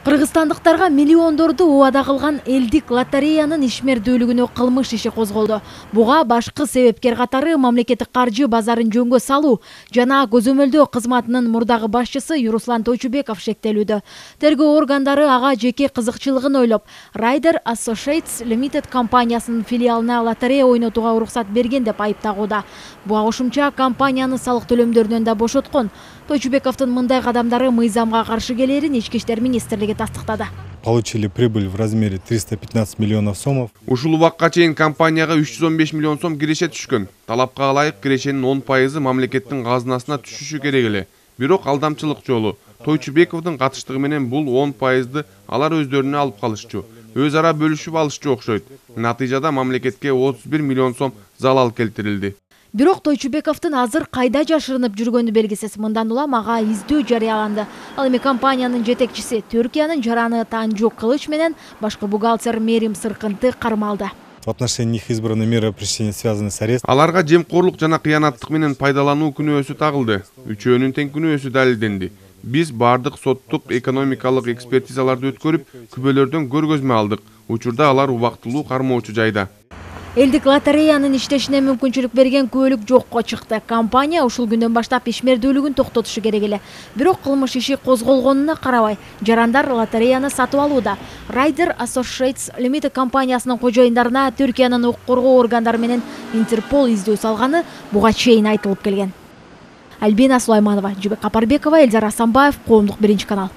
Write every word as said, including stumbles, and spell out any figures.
Кыргызстандыктарга миллиондорду убада кылган элдик лотереянын ишмердүүлүгүнө кылмыш иши козголду. Буга башкы себепкер катары мамлекеттик каржы базарын жөнгө салуу жана көзөмөлдөө кызматынын мурдагы башчысы Юруслан Тойчубеков шектелүүдө. Тергөө органдары ага жеке кызыкчылыгын ойлоп, Rider Associates Limited компаниясынын филиалына лотерея ойнотууга уруксат берген деп айыптагууда. Буга кошумча компанияны салык төлөмдөрүнөн да бошоткон. Тойчубековдун мындай кадамдары мыйзамга каршы келерин Ички иштер министрлиги тастыктады. Получили прибыль в размере триста пятнадцать миллионов сомов. Ушул убакка чейин компанияга үч жүз он беш миллион сом киреше түшкөн. Талапка ылайык кирешенин он пайызы мамлекеттин казынасына түшүшү керек эле. Бирок алдамчылык жолу. Тойчубековдун катыштыгы менен бул он пайызды алар өздөрүнө алып калышчу. Өз ара бөлүшүп алышчу окшойт. Натыйжада мамлекетке отуз бир миллион сом залал келтирилди. Бирок Тойчубековдун азыр кайда жашырынып жүргөнү белгисиз. Мындан улам ага издөө жарыяланды. Ал эми компаниянын жетекчиси Түркиянын жараны Танжу Кылыч менен башкы бухгалтер Мерим Сыркынты кармалды. В отношении них избраны меры пресечения, связанные с арестом. Аларга жемкорлук жана кыянаттык менен пайдалануу күнөөсү тагылды. Үчөөнүн тең күнөөсү далилденди. Биз бардык соттук экономикалык экспертизаларды өткөрүп, күбөлөрдөн көргөзмө алдык. Учурда алар убактылуу кармоочу жайда. Элдик лотереянын иштешине мүмкүнчүлүк берген күбөлүк жокко чыкты. Компания ушул күндөн баштап ишмердүүлүгүн токтотушу керек эле. Бирок кылмыш иши козголгонуна карабай, жарандар лотереяны сатып алууда. Rider Associates Limited компаниясынын кожоюндарына Түркиянын укук коргоо органдары менен Интерпол издөө салганы буга чейин айтылып келген. Альбина Сулайманова, Жибек Капарбекова, Эльзар Асанбаев, Коомдук биринчи канал.